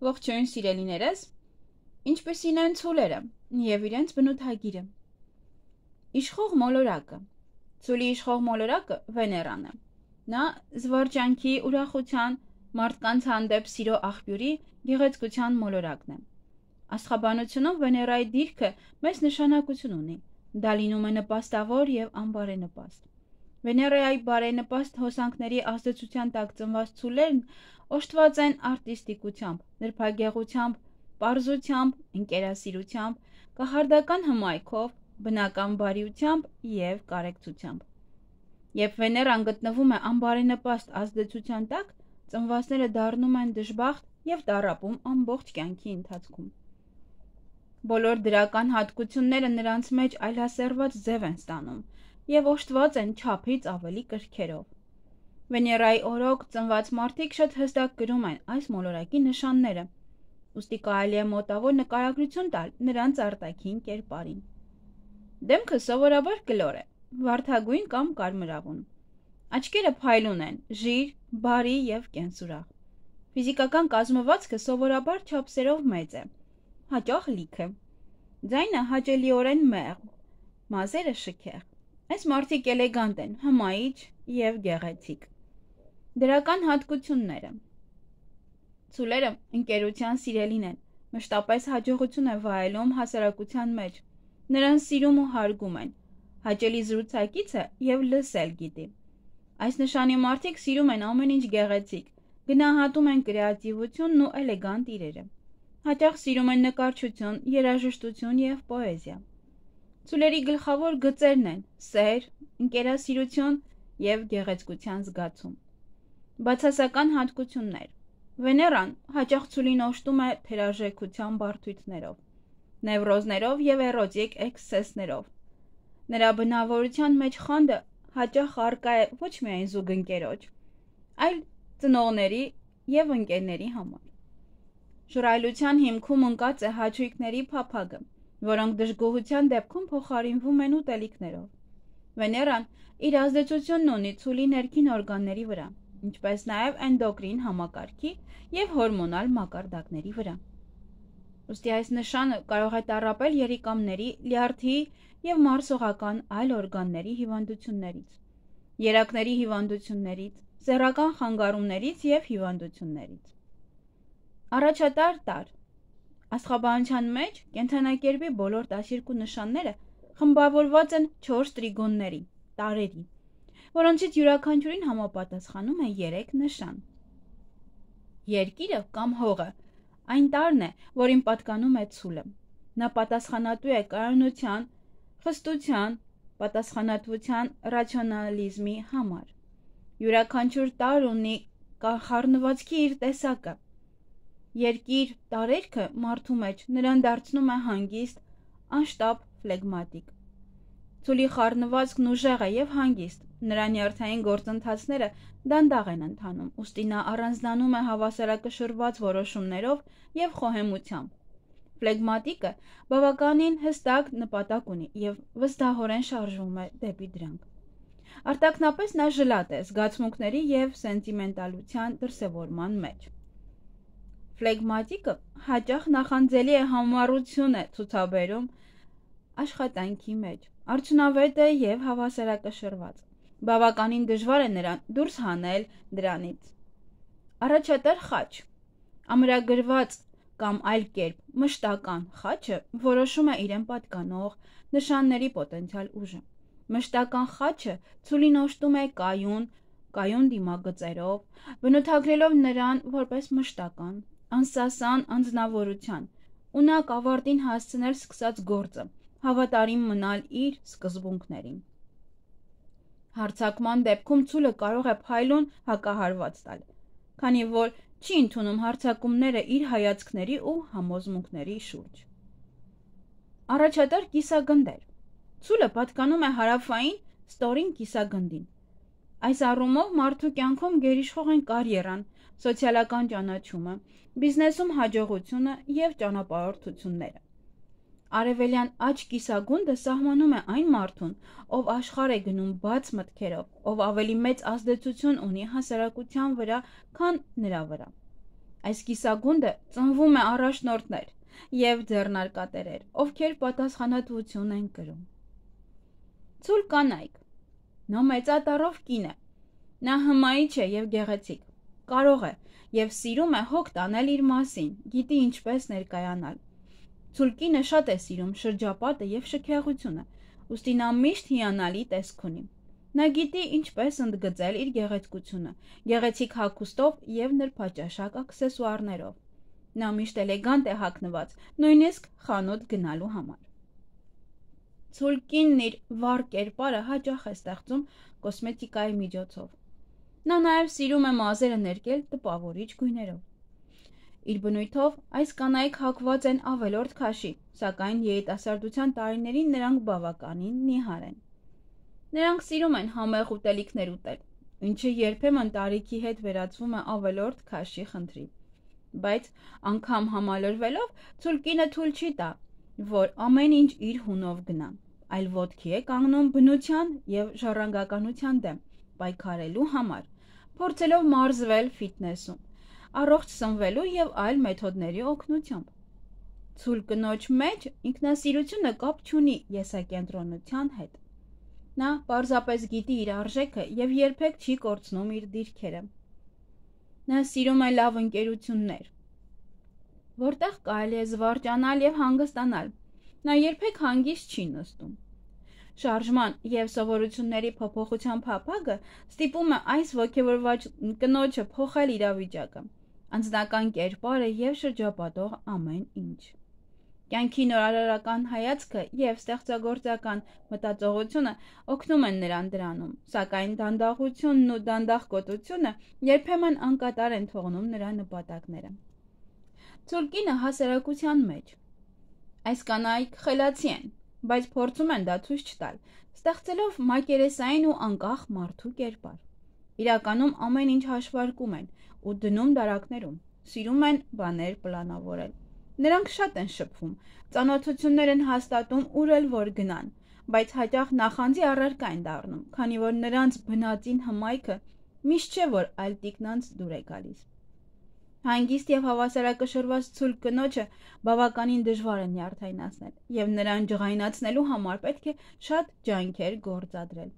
Ողջույն սիրելիներս, ինչպիսին են ցուլերը և իրենց բնութագիրը։ Իշխող մոլորակը։ Ցուլի իշխող մոլորակը Վեներան է։ Նա զվարճանքի, ուրախության, մարդկանց հանդեպ սիրո աղբյուրի, գեղեցկության մոլորակն է։ Աստղաբանությունում Վեներայի դիրքը մեծ նշանակություն ունի։ Դա լինում է նպաստավոր և անբարենպաստ։ Վեներայի բարենպաստ հոսանքների ազդեցության տակ ծնված ցուլերն օժտված են արտիստիկությամբ, նրբագեղությամբ, պարզությամբ, ընկերասիրությամբ, կախարդական հմայքով, բնական բարիությամբ և կարեկցությամբ։ Երբ Վեներան գտնվում է անբարենպաստ ազդեցության տակ, ծնվածները դառնում են դժբախտ և տառապում ամբողջ կյանքի ընթացքում։ Բոլոր դրական հատկությունները նրանց մեջ այլասերված ձև են ստանում և օժտված են չափից ավելի կրքերով։ Վեներայի օրոք ծնված մարդիկ շատ հստակ կրում են այս մոլորակի նշանները, ուստի կարելի է մոտավոր նկարագրություն տալ նրանց արտաքին կերպարին։ Դեմքը սովորաբար կլոր է, վարդագույն կամ կարմրավուն։ Աչքերը փայլուն են, ժիր, բարի և կենսուրախ։ Ֆիզիկական կազմվածքը սովորաբար չափսերով մեծ է, հաճախ լիքը։ Ձայնը հաճելիորեն մեղմ, մազերը շքեղ։ Այս մարդիկ էլեգանտ են, հմայիչ և գեղեցիկ։ Դրական հատկությունները։ Ցուլերը ընկերության սիրելին են, մշտապես հաջողություն է վայելում հասարակության մեջ, նրան սիրում ու հարգում են, հաճելի զրուցակից է և լսել գիտի։ Այս նշանի մարդիկ սիրում են ամեն ինչ գեղեցիկ, գնահատում են կրեատիվությունն ու էլեգանտ իրերը։ Հաճախ սիրում են նկարչություն, երաժշտություն և պոեզիա։ Ցուլերի գլխավոր գծերն են սեր, ընկերասիրություն և գեղեցկության զգացում։ Բացասական հատկություններ։ Վեներան հաճախ ցուլին օժտում է թերարժեքության բարդություններով, նևրոզներով և էրոտիկ էքսցեսներով։ Նրա բնավորության մեջ խանդը հաճախ առկա է ոչ միայն զուգընկերոջ, այլ ծնողների և ընկերների համար։ Ժռայլության հիմքում ընկած է հաճույքների փափագը, որոնք դժգոհության դեպքում փոխարինվում են ուտելիքներով։ Վեներան իր ազդեցությունն ունի ցուլի ներքին օրգանների վրա, ինչպես նաև էնդոկրին համակարգի և հորմոնալ մակարդակների վրա։ Ուստի այս նշանը կարող է տառապել երիկամների, լյարդի և մարսողական այլ օրգանների հիվանդություններից, երակների հիվանդություններից, սեռական խանգարումներից և հիվանդություններից։ Առաջատար տարր։ Աստղաբանության մեջ կենդանակերպի բոլոր 12 նշանները խմբավորված են 4 տրիգոնների, տարրերի, որոնցից յուրաքանչյուրին համապատասխանում է 3 նշան։ Երկիրը կամ հողը այն տարրն է, որին պատկանում է ցուլը։ Նա պատասխանատու է կայունության, խստության, պատասխանատվության, ռացիոնալիզմի համար։ Յուրաքանչյուր տարր ունի խառնվածքի իր տեսակը։ Երկիր տարերքը մարդու մեջ նրան դարձնում է հանգիստ, անշտապ, ֆլեգմատիկ։ Ցուլի խառնվածքն ուժեղ է և հանգիստ, նրա նյարդային գործընթացները դանդաղ են ընթանում, ուստի նա առանձնանում է հավասարակշռված որոշումներով և խոհեմությամբ։ Ֆլեգմատիկը բավականին հստակ նպատակ ունի և վստահորեն շարժվում է դեպի դրանք։ Արտաքնապես նա ժլատ է զգացմունքների և սենտիմենտալության դրսևորման մեջ։ Ֆլեգմատիկը հաճախ նախանձելի համառություն է ցուցաբերում աշխատանքի մեջ, արդյունավետ է և հավասարակշռված։ Բավականին դժվար է նրան դուրս հանել դրանից։ Առաջատար խաչ։ Ամրագրված կամ այլ կերպ մշտական խաչը որոշում է իրեն պատկանող նշանների պոտենցիալ ուժը։ Մշտական խաչը ցուլին օժտում է կայուն դիմագծերով, բնութագրելով նրան որպես մշտական, անսասան անձնավորության, ունակ ավարտին հասցնել սկսած գործը, հավատարիմ մնալ իր սկզբունքներին։ Հարձակման դեպքում ցուլը կարող է փայլուն հակահարված տալ, քանի որ չի ընդունում հարձակումները իր հայացքների ու համոզմունքների շուրջ։ Առաջատար կիսագնդեր։ Ցուլը պատկանում է հարավային ստորին կիսագնդին։ Այս առումով մարդու կյանքում գերիշխող են կարիերան, սոցիալական ճանաչումը, բիզնեսում հաջողությունը և ճանապարհորդությունները։ Արևելյան աջ կիսագունդը սահմանում է այն մարդուն, ով աշխարհ է գնում բաց մտքերով, ով ավելի մեծ ազդեցություն ունի հասարակության վրա, քան նրա վրա։ Այս կիսագունդը ծնվում է առաջնորդներ և ձեռնարկատերեր, ովքեր պատասխանատվություն են կրում։ Ցուլ կանայք։ Նա մեծատառով կին է։ Նա հմայիչ է և գեղեցիկ, կարող է և սիրում է հոգ տանել իր մասին, գիտի ինչպես ներկայանալ։ Ցուլ կինը շատ է սիրում շրջապատը և շքեղությունը, ուստի նա միշտ հիանալի տեսք ունի։ Նա գիտի ինչպես ընդգծել իր գեղեցկությունը, գեղեցիկ հագուստով և նրբաճաշակ աքսեսուարներով։ Նա միշտ էլեգանտ է հագնված, նույնիսկ խանութ գնալու համար։ Ցուլ կինն իր վառ կերպարը հաճախ է ստեղծում կոսմետիկայի միջոցով։ Նա նաև սիրում է մազերը ներկել տպավորիչ գույներով։ Իր բնույթով այս կանայք հագված են ավելորդ քաշի, սակայն երիտասարդության տարիներին նրանք բավականին նիհար են։ Նրանք սիրում են համեղ ուտելիքներ ուտել, ինչը երբեմն տարիքի հետ վերածվում է ավելորդ քաշի խնդրի։ Բայց անգամ համալրվելով, ցուլ կինը թույլ չի տա, որ ամեն ինչ իր հունով գնա, այլ ոտքի է կանգնում բնության և ժառանգականության դեմ, պայքարելու համար, փորձելով մարզվել ֆիթնեսում, առողջ սնվելու և այլ մեթոդների օգնությամբ։ Ցուլ կնոջ մեջ ինքնասիրությունը կապ չունի եսակենտրոնության հետ։ Նա պարզապես գիտի իր արժեքը և երբեք չի կորցնում իր դիրքերը։ Նա սիրում է լավ ընկերություններ, որտեղ կարելի է զվարճանալ և հանգստանալ։ Նա երբեք հանգիստ չի նստում։ Շարժման և սովորությունների փոփոխության փափագը ստիպում է այս ոգևորված կնոջը փոխել իրավիճակը, անձնական կերպարը և շրջապատող ամեն ինչ։ Կյանքի նորարարական հայացքը և ստեղծագործական մտածողությունը օգնում են նրան դրանում, սակայն դանդաղությունն ու դանդաղկոտությունը երբեմն անկատար են թողնում նրա նպատակները։ Ցուլ կինը հասարակության մեջ։ Այս կանայք խելացի են, բայց փորձում են դա ցույց չտալ, ստեղծելով մակերեսային ու անկախ մարդու կերպար։ Իրականում ամեն ինչ հաշվարկում են ու դնում դարակներում, սիրում են բաներ պլանավորել։ Նրանք շատ են շփվում, ծանոթություններ են հաստատում ուր էլ որ գնան, բայց հաճախ նախանձի առարկա են դառնում, քանի որ նրանց բնածին հմայքը միշտ չէ, որ այլ տիկնանց դուր է գալիս։ Հանգիստ և հավասարակշռված ցուլ կնոջը բավականին դժվար է նյարդայնացնել, և նրան ջղայնացնելու համար պետք է շատ ջանքեր գործադրել։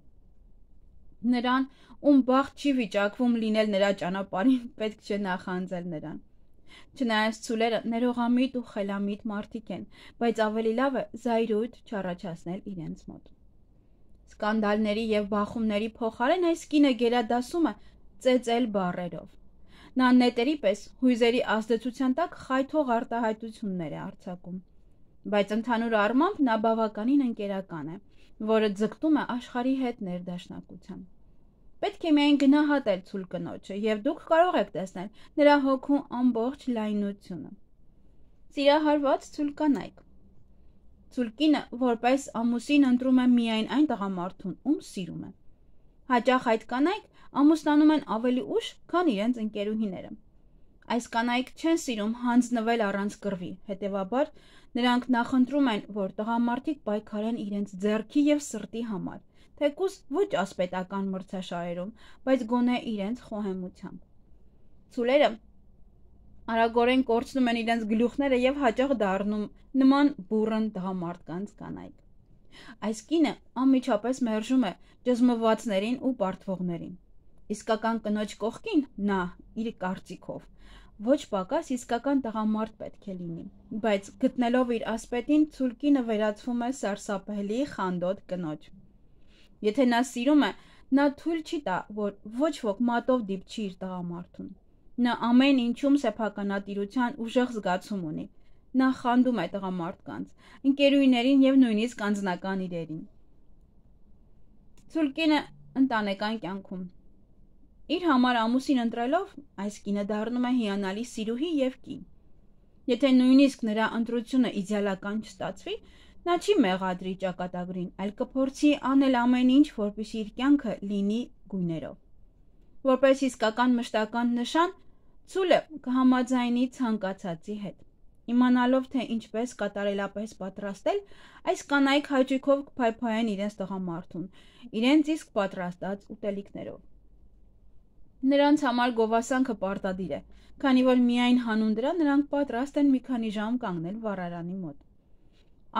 Նրան, ում բախտ չի վիճակվում լինել նրա ճանապարհին, պետք չէ նախանձել նրան։ Չնայած ցուլերը ներողամիտ ու խելամիտ մարդիկ են, բայց ավելի լավ է զայրույթ չառաջացնել իրենց մոտ։ Սկանդալների և բախումների փոխարեն այս կինը գերադասում է ծեծել բառերով։ Նա նետերի պես հույզերի ազդեցության տակ խայթող արտահայտություններ է արձակում, բայց ընդհանուր առմամբ նա բավականին ընկերական է, որը ձգտում է աշխարհի հետ ներդաշնակության։ Պետք է միայն գնահատել ցուլ կնոջը, և դուք կարող եք տեսնել նրա հոգու ամբողջ լայնությունը։ Սիրահարված ցուլ կանայք։ Ցուլ կինը որպես ամուսին ընտրում է միայն այն տղամարդուն, ում սիրում է։ Հաճախ այդ կանայք ամուսնանում են ավելի ուշ, քան իրենց ընկերուհիները։ Այս կանայք չեն սիրում հանձնվել առանց կռվի, հետևաբար նրանք նախընտրում են, որ տղամարդիկ պայքարեն իրենց ձեռքի և սրտի համար, թեկուզ ոչ ասպետական մրցաշարերում, բայց գոնե իրենց խոհեմությամբ։ Ցուլերը արագորեն կորցնում են իրենց գլուխները և հաճախ դառնում նման բուռն տղամարդկանց կանայք։ Այս կինը անմիջապես մերժում է ճզմվածներին ու պարտվողներին։ Իսկական կնոջ կողքին նա, իր կարծիքով, ոչ պակաս իսկական տղամարդ պետք է լինի, բայց գտնելով իր ասպետին, ցուլ կինը վերածվում է սարսափելի խանդոտ կնոջ։ Եթե նա սիրում է, նա թույլ չի տա, որ ոչ ոք մատով դիպչի իր տղամարդուն։ Նա ամեն ինչում սեփականատիրության ուժեղ զգացում ունի։ Նա խանդում է տղամարդկանց, ընկերուհիներին և նույնիսկ անձնական իրերին։ Ցուլ կինը ընտանեկան կյանքում։ Իր համար ամուսին ընտրելով, այս կինը դառնում է հիանալի սիրուհի և կին։ Եթե նույնիսկ նրա ընտրությունը իդեալական չստացվի, նա չի մեղադրի ճակատագրին, այլ կփորձի անել ամեն ինչ, որպեսզի իր կյանքը լինի գույներով։ Որպես իսկական մշտական նշան, ցուլը կհամաձայնի ցանկացածի հետ։ Իմանալով, թե ինչպես կատարելապես պատրաստել, այս կանայք հաճույքով կփայփայեն իրենց տղամարդուն, իրենց իսկ պատրաստած ուտելիքներով։ Նրանց համար գովասանքը պարտադիր է, քանի որ միայն հանուն դրա նրանք պատրաստ են մի քանի ժամ կանգնել վառարանի մոտ։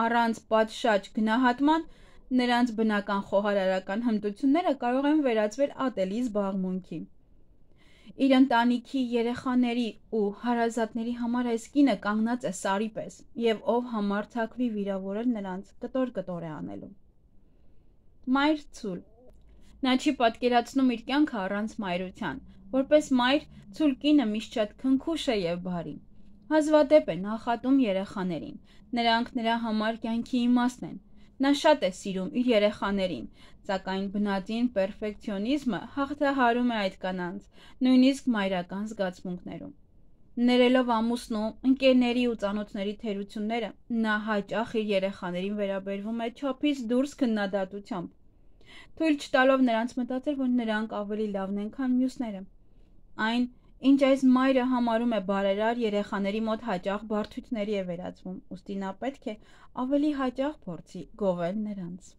Առանց պատշաճ գնահատման նրանց բնական խոհարարական հմտությունները կարող են վերածվել ատելի զբաղմունքի։ Իր ընտանիքի, երեխաների ու հարազատների համար այս կինը կանգնած է սարի պես, եւ ով համարձակվի վիրավորել նրանց, կտոր է անելու։ Մայր ցուլ։ Նա չի պատկերացնում իր կյանքը առանց մայրության։ Որպես մայր, ցուլ կինը միշտ շատ քնքուշ է եւ բարի։ Հազվադեպ է նախատում երեխաներին։ Նրանք նրա համար կյանքի իմաստն են։ Նա շատ է սիրում իր երեխաներին, սակայն բնածին պերֆեկցիոնիզմը հաղթահարում է այդ կանանց, նույնիսկ մայրական զգացմունքներում։ Ներելով ամուսնու, ընկերների ու ծանոթների թերությունները, նա հաճախ իր երեխաներին վերաբերվում է չափից դուրս քննադատությամբ, թույլ չտալով նրանց մտածել, որ նրանք ավելի լավն են, քան մյուսները։ Այն, ինչ այս մայրը համարում է բարերար, երեխաների մոտ հաճախ բարդությունների է վերածվում, ուստի նա պետք է ավելի հաճախ փորձի գովել նրանց։